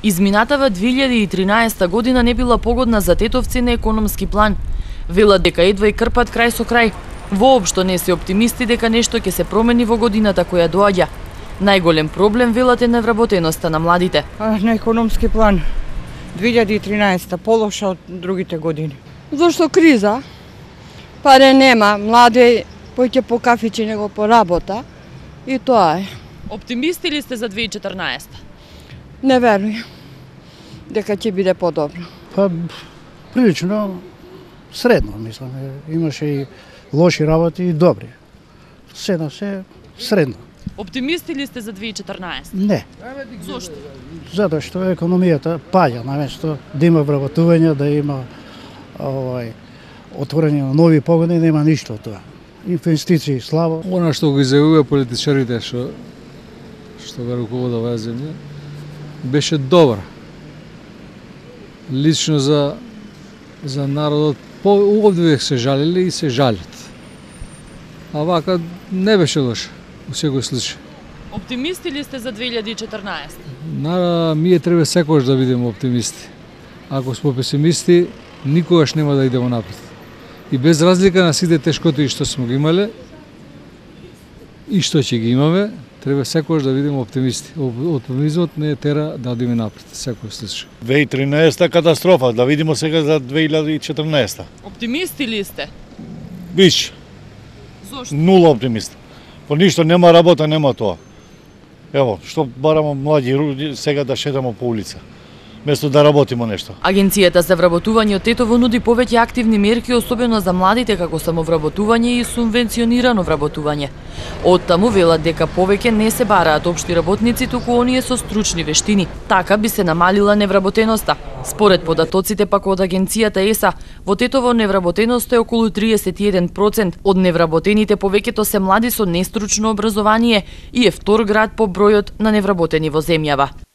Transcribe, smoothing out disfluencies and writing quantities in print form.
Изминатава 2013 година не била погодна за тетовци на економски план. Велат дека едва и крпат крај со крај. Воопшто не се оптимисти дека нешто ќе се промени во годината која доаѓа. Најголем проблем, велат, е невработеноста на младите. На економски план 2013 полоша од другите години. Зошто криза? Паре нема, млади поќе по кафичи него по работа и тоа е. Оптимисти ли сте за 2014? Не верујам дека ќе биде подобро. Па, прилично средно, мислам. Имаше и лоши работи и добри. Седна се средно. Оптимисти ли сте за 2014? Не. Зошто? Затоа што економијата паѓа, наместо да има вработување, да има отворање на нови погоди, нема ништо од тоа. Инвестиции слабо. Она што го изјавува политичарите што го руководат оваа земја беше добра. Лично за народот овде се жалели и се жалат. А вака не беше лошо во секој случај. Оптимисти ли сте за 2014? Ние треба секогаш да бидеме оптимисти. Ако сме песимисти, никогаш нема да идеме напред. И без разлика на сите тешкоти што сме ги имале и што ќе ги имаме, треба секогаш да бидеме оптимисти. Оптимизмот не тера да одиме напред, секој случај. 2013 катастрофа, да видиме сега за 2014. Оптимисти ли сте? Биш. Зошто? Нула оптимист. По ништо нема работа, нема тоа. Ево, што барамо млади сега да шетамо по улица, место да работиме нешто. Агенцијата за вработување од Тетово нуди повеќе активни мерки, особено за младите, како самовработување и субвенционирано вработување. Оттаму велат дека повеќе не се бараат општи работници, туку оние со стручни вештини. Така би се намалила невработеноста. Според податоците пак од агенцијата ЕСА, во Тетово невработеноста е околу 31%. Од невработените повеќето се млади со нестручно образование и е втор град по бројот на невработени во земјава.